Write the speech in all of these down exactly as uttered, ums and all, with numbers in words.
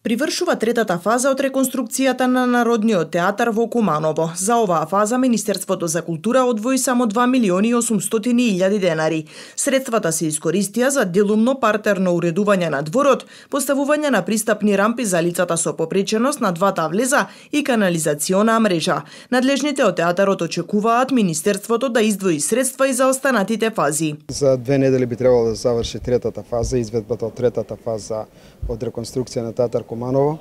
Привршува третата фаза од реконструкцијата на Народниот театар во Куманово. За оваа фаза Министерството за култура одвои само два милиони и осумстотини илјади денари. Средствата се искористија за делумно партерно уредување на дворот, поставување на пристапни рампи за лицата со попреченост на двата влеза и канализациона мрежа. Надлежните од театарот очекуваат Министерството да издвои средства и за останатите фази. За две недели би требало да заврши третата фаза, изведбата од третата фаза од реконструкција на театар Куманово.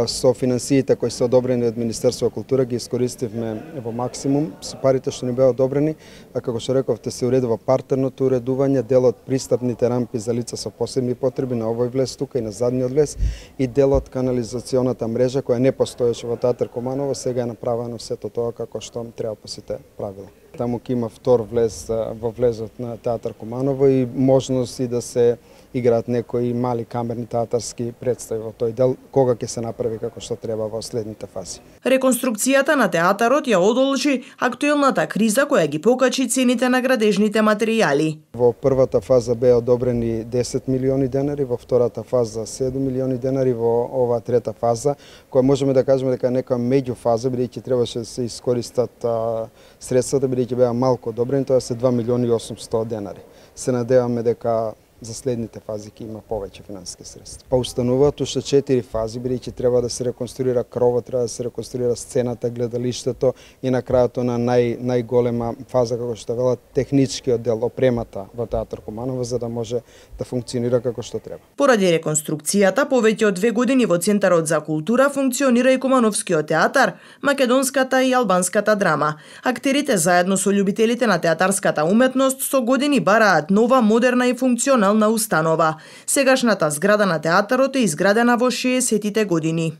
Со финансиите кои се одобрени од Министерството култура ги искористивме во максимум. Со парите што ни беа одобрени, а како што рековте, се уредува партерното уредување, дел од пристапните рампи за лица со посебни потреби на овој влез тука и на задниот влез и дел од канализационата мрежа која не постоеше во театар Куманово, сега е направено сето тоа како што треба по сите правила. Таму ќе има втор влез во влезот на театар Куманово и можност и да се играат некои мали камерни театарски представи во тој дел, кога ќе се направи како што треба во следните фази. Реконструкцијата на театарот ја одолжи актуелната криза која ги покачи цените на градежните материјали. Во првата фаза беа одобрени десет милиони денари, во втората фаза седум милиони денари, во оваа трета фаза, која можеме да кажеме дека е нека меѓуфаза, бидејќи требаше да се искористат а, средствата, бидејќи беа малку одобрени, тоа се два милиони и осумстотини денари. Се надеваме дека за следните фази ќе има повеќе финансиски средства. Па установуваат уште четири фази, бидејќи треба да се реконструира кровот, треба да се реконструира сцената, гледалиштето и на крајот на нај најголема фаза како што велат техничкиот дел, опремата во театар Куманово за да може да функционира како што треба. Поради реконструкцијата, повеќе од две години во Центарот за култура функционира и Кумановскиот театар, македонската и албанската драма. Актерите заедно со љубителите на театарската уметност со години бараат нова, модерна и функционална установа. Сегашната зграда на театарот е изградена во шеесеттите години.